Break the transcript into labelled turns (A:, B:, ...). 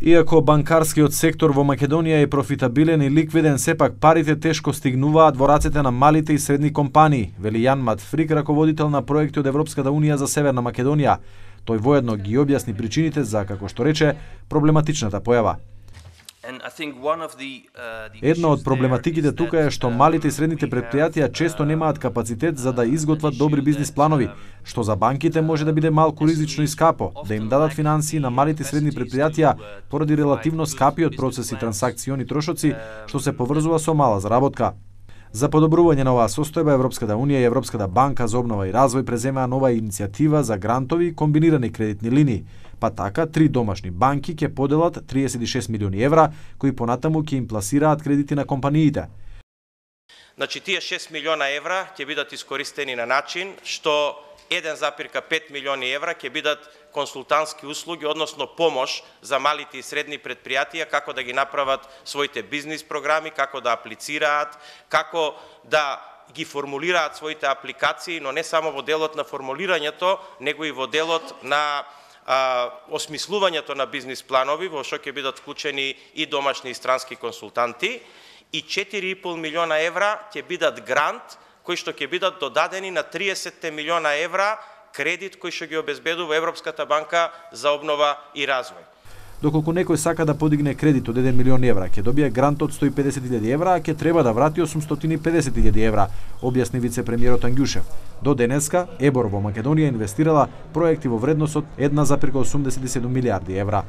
A: Иако банкарскиот сектор во Македонија е профитабилен и ликвиден, сепак парите тешко стигнуваат во рацете на малите и средни компании, вели Јан Матфрик, раководител на проекти од Европската унија за Северна Македонија. Тој воедно ги објасни причините за, како што рече, проблематичната појава. Една од проблематиките тука е што малите и средните предпријатија често немаат капацитет за да изготват добри бизнис планови, што за банките може да биде малку ризично и скапо, да им дадат финансии на малите и средни предпријатија поради релативно скапиот процес и трансакциони трошоци, што се поврзува со мала заработка. За подобрување на оваа состојба, Европската унија и Европската банка за обнова и развој преземаа нова иницијатива за грантови и комбинирани кредитни линии. Па така, 3 домашни банки ќе поделат 36 милиони евра, кои понатаму ќе им пласираат кредити на компаниите.
B: Значи, тие 6 милиона евра ќе бидат искористени на начин што 1,5 милиони евра ќе бидат консултантски услуги, односно помош за малите и средни предпријатија, како да ги направат своите бизнис програми, како да аплицираат, како да ги формулираат своите апликации, но не само во делот на формулирањето, него и во делот на осмислувањето на бизнис планови, во што ќе бидат вклучени и домашни и странски консултанти, и 4,5 милиона евра ќе бидат грант, кои што ќе бидат додадени на 30 милиона евра кредит кој што ги обезбедува Европската банка за обнова и развој.
A: Доколку некој сака да подигне кредит од 1 милион евра, ќе добие грант од 150.000 евра, а ќе треба да врати 850.000 евра, објасни вице-премиерот Ангјушев. До денеска, ЕБОР во Македонија инвестирала проекти во вредност од 1,87 милиарди евра.